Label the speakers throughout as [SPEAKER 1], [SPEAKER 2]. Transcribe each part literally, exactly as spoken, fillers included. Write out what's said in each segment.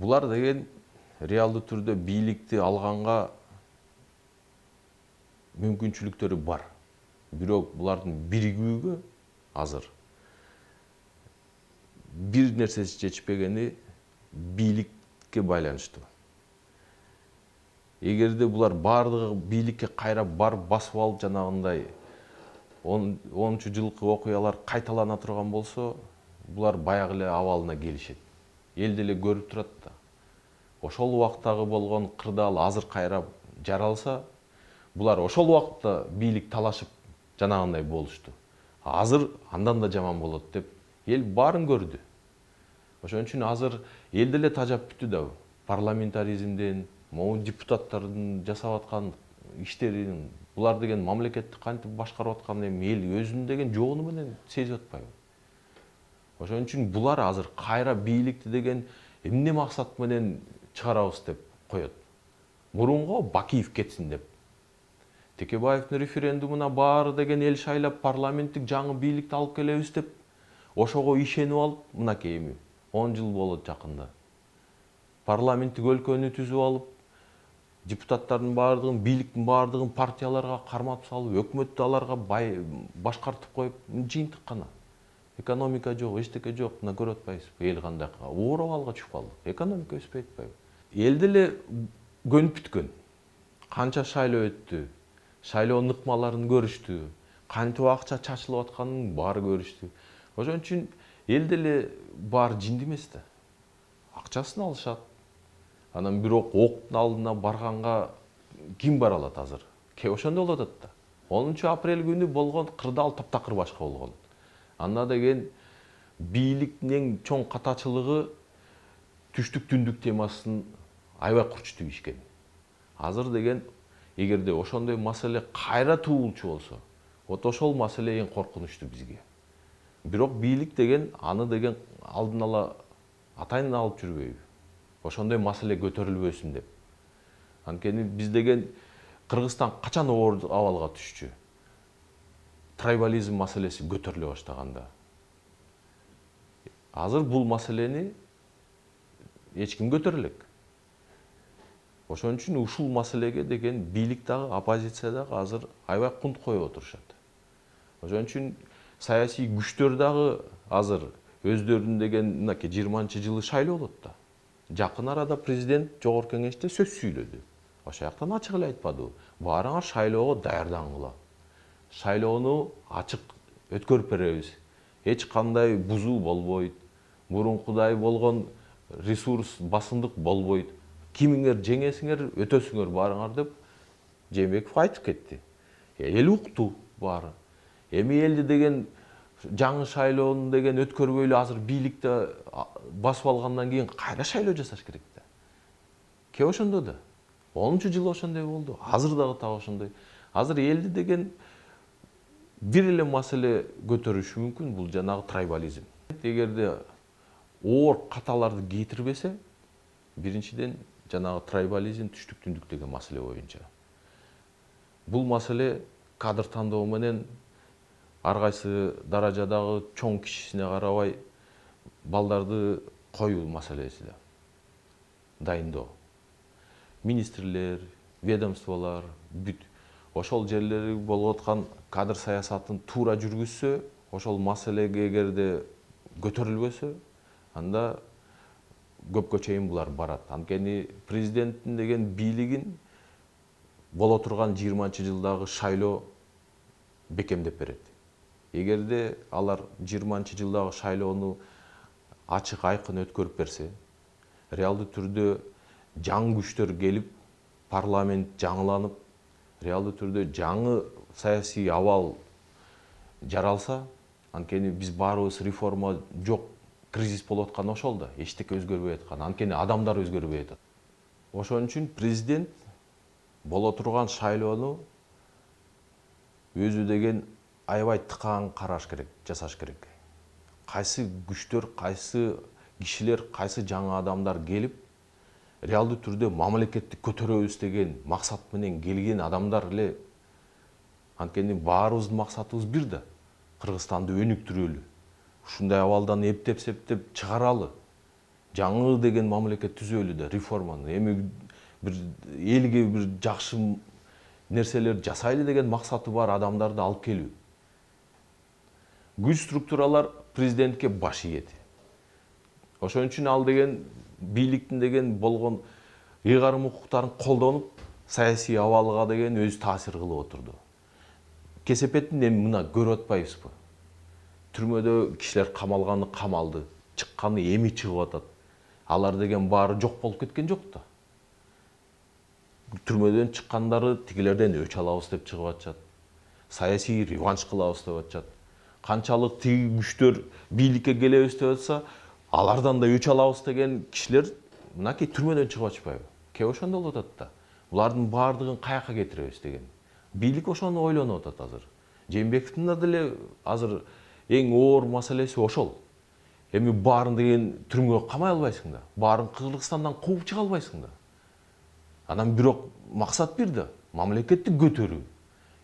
[SPEAKER 1] Булар деген реалдуу түрдө бийликти алганга мүмкүнчүлүктөрү бар. Бирок булардын биригүүгө азыр бир нерсеси жетишпегени бийликке байланыштуу. Эгерде булар бардыгы бийликке кайра барып басып алып жанагындай онунчу жылкы окуялар кайталана турган болсо, булар баягы эле абалына келишет. Эл деле көрүп турат да. Ошол убактагы болгон кырдаал азыр кайра жаралса, булар ошол убакытта бийлик талашып жанагындай болушту. Азыр андан да жаман болот деп эл баарын көрдү. Ошон үчүн азыр эл деле тажап бүттү да. Парламентаризмден, могу депутаттардын жасап аткан иштерин, булар деген мамлекетти кантип башкарып атканын эми эл өзүнүн деген жогону менен сезип атпайбы? Ошон үчүн булар азыр кайра бийликти деген эмне максат менен чыгарабыз деп коет. Мурунго Бакиев кетсин деп. Текебаевдин референдумуна баары деген эл шайлап парламенттик жаңы бийликти алып келебиз деп ошого ишенип алып, мынакей эми он жыл болот жакында. Парламенттик өлкөнү түзүп алып, депутаттардын баардыгын, бийликтин баардыгын партияларга карматып салып, өкмөттү аларга башкартып коюп, жыйынтык гана. Экономика жок, эчтеке жок, мына көрүп атпайсызбы, эл кандай оор абалга түшүп калды. Экономика өспөй атпайбы? Эл деле көнүп бүткөн. Канча шайлоо өттү, шайлоонун ыкмаларын көрүштү, кантип акча чачылып атканын баары көрүштү. Ошон үчүн эл деле баары жинди эмес да. Акчасын алышат. Анан бирок октун алдына барганга ким бара алат азыр? Ке ошондой болуп атат да. онунчу апрель күнү болгон кырдаал таптакыр башка болгон. Анда деген бийликтин эң чоң катачылыгы түштүк түндүк темасын аябай курчутуп ишкен. Азыр деген эгерде ошондой маселе кайра туулчу болсо, вот ошол маселе эң коркунучтуу бизге. Бирок бийлик деген аны деген алдын ала атайын алып жүрбөйбү? Ошондой маселе көтөрүлбөсүн деп. Анткени биз деген Кыргызстан качан оор абалга түшчү? Трайбализм маселеси көтөрүлө баштаганда. Азыр бул маселени эч ким көтөрө элек. Ошон үчүн ушул маселеге деген бийлик дагы, оппозиция дагы азыр аябай кунт коюп отурушат. Ошон үчүн саясий күчтөр дагы азыр өздөрүнүн деген мынакей жыйырманчы жылы шайлоо болот да. Жакын арада президент жогорку кеңеште сөз сүйлөдү. Ошол жактан ачык эле айтпадыбы? Баарыңар шайлоого даярдангыла. Шайлоону ачык өткөрүп беребиз. Эч кандай бузуу болбойт. Мурункудай болгон ресурс, басымдык болбойт. Кимиңер жеңесиңер, өтөсүңөр баарыңар деп Жээнбеков айтып кетти. Эл укту баары. Эми элди деген жаңы шайлоону деген өткөрбөйлү азыр бийликти басып алгандан кийин кайра шайлоо жасаш керек да. Ке ошондо да. онунчу жылы ошондой болду. Азыр дагы так ошондой. Азыр элди деген бир эле маселе көтөрүшү мүмкүн, бул жанагы трайбализм. Эгерде оор каталарды кетирбесе, биринчиден жанагы трайбализм түштүк түндүк деген маселе боюнча. Бул маселе кадр тандоо менен ар кайсы даражадагы чоң кишисине карабай балдарды коюу маселеси да. Дайындоо. Министрлер, ведомстволор, бүт ошол жерлери болуп аткан кадр саясатын туура жүргүзсө, ошол маселеге эгерде көтөрүлбөсө, анда көпкө чейин булар барат. Анткени президенттин деген бийлигин боло турган жыйырманчы жылдагы шайлоо бекемдеп берет. Эгерде алар жыйырманчы жылдагы шайлоону ачык айкын өткөрүп берсе, реалдуу түрдө жаңы күчтөр келип, парламент жаңыланып, реалдуу түрдө жаңы саясий абал жаралса, анткени биз баарыбыз реформа жок, кризис болуп аткан ошол да, эчтеке өзгөрбөй аткан, анткени адамдар өзгөрбөй атат. Ошон үчүн президент боло турган шайлоону өзү деген аябай тыкаан караш керек, жасаш керек. Кайсы күчтөр, кайсы кишилер, кайсы жаңы адамдар келип, реалдуу түрдө мамлекетти көтөрөбүз деген максат менен келген адамдар эле. Анткени баарыбыздын максатыбыз бир да. Кыргызстанды өнүктүрөлү. Ушундай абалдан эптеп-септеп чыгаралы. жаңы деген мамлекет түзөлү да, реформаны, эми бир элге бир жакшы нерселер жасайлы деген максаты бар адамдарды алып келүү. Күч структуралар президентке баш ийети. Ошон үчүн ал деген бийликтин деген болгон ыйгарым укуктарын колдонуп, саясий абалга деген өз таасир кылып отурду. Кесепетин эми мына көрүп атпайбызбы? Түрмөдө кишилер камалганы камалды, чыкканы эми чыгып атат. Алар деген баары жок болуп кеткен жок да. Түрмөдөн чыккандары тигилерден өч алабыз деп чыгып атышат. Саясий реванш кылабыз деп атышат. Канчалык тиги күчтөр бийликке келебиз деп атса, алардан да өч алабыз деген кишилер мынакей түрмөдөн чыгып атышпайбы? Кээ ошондой болуп атат да. Булардын баардыгын каяка кетиребиз деген. Бийлик ошону ойлонуп атат азыр. Жээнбековдун да деле азыр эң оор маселеси ошол. Эми баарын деген түрмөгө камай албайсың да. Баарын Кыргызстандан кууп чыга албайсың да. Анан бирок максат бир да, мамлекетти көтөрүү.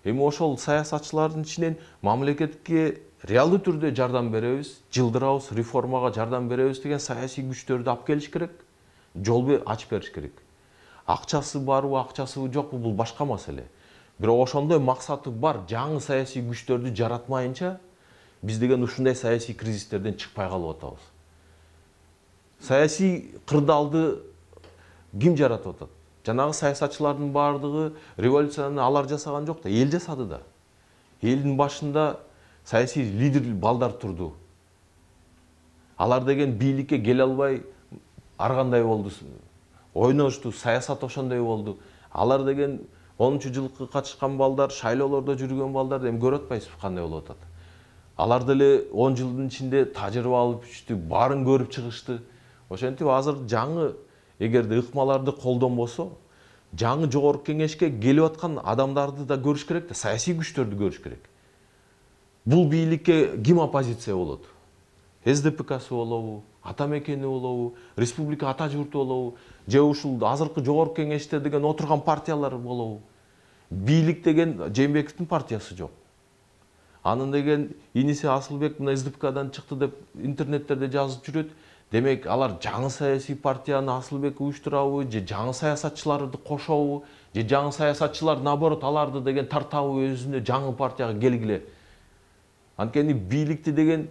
[SPEAKER 1] Эми ошол саясатчылардын ичинен мамлекетке реалдуу түрдө жардам беребиз, жылдырабыз, реформага жардам беребиз деген саясий күчтөрдү алып келиш керек. Жол ачып бериш керек. Акчасы барбы, акчасы жокпу, бул башка маселе. Бирок ошондой максаты бар жаңы саясий күчтөрдү жаратмайынча, биз деген ушундай саясий кризистерден чыкпай калып атабыз. Саясий кырдаалды ким жаратып атат? Жанагы саясатчылардын баардыгы революцияны алар жасаган жок да, эл жасады да. Элдин башында саясий лидер балдар турду. Алар деген бийликке келе албай ар кандай болду. Ойношту, саясат ошондой болду. Алар деген онунчу жылкы катышкан балдар, шайлоолордо жүргөн балдар эми көрүп атпайсызбы кандай болуп атат. Алар деле он жылдын ичинде тажрыйба алып түштү, баарын көрүп чыгышты. Ошентип азыр жаңы эгерде ыкмаларды колдонбосо, жаңы жогорку кеңешке келип аткан адамдарды да көрүш керек да, саясий күчтөрдү көрүш керек. Бул бийликке ким оппозиция болот? СДПКсы болобу, ата мекени болобу, республика ата журту болобу, же ушул азыркы жогорку кеңеште деген отурган партиялар болобу? Бийлик деген Жээнбековдун партиясы жок. Анын деген иниси Асылбек мына СДПКдан чыкты деп интернеттерде жазып жүрөт. Демек, алар жаңы саясий партияны Асылбек уюштурабы, же жаңы саясатчыларды кошобу, же жаңы саясатчылар наоборот аларды деген тартабы өзүнө жаңы партияга келгиле. Анткени бийликти деген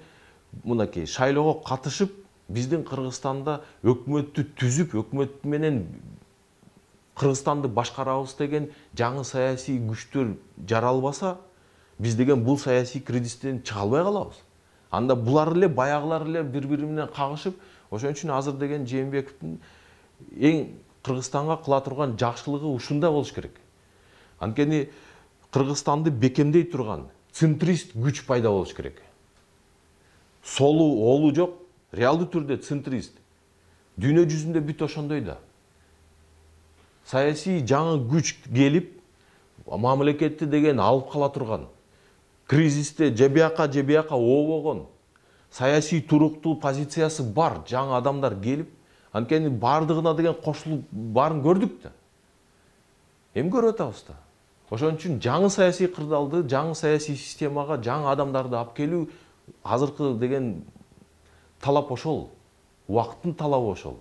[SPEAKER 1] мынакей шайлоого катышып, биздин Кыргызстанда өкмөттү түзүп, өкмөт менен Кыргызстанды башкарабыз деген жаңы саясий күчтөр жаралбаса, биз деген бул саясий кризистен чыга албай калабыз. Анда булар эле баягылар эле бири-бири менен кагышып, ошон үчүн азыр деген Жээнбековдун эң Кыргызстанга кыла турган жакшылыгы ушунда болуш керек. Анткени Кыргызстанды бекемдей турган центрист күч пайда болуш керек. Солу, олу жок, реалдуу түрдө центрист. Дүйнө жүзүндө бүт ошондой да. Саясий жаңы күч келип, мамлекетти деген алып кала турган, кризисте же бияка же бияка обогон, саясий туруктуу позициясы бар жаңы адамдар келип, анткени бардыгына деген кошулуп баарын көрдүк да. Эми көрүп атабыз да. Ошон үчүн жаңы саясий кырдаалды, жаңы саясий системага жаңы адамдарды алып келүү азыркы деген талап ошол. Убакыттын талабы ошол.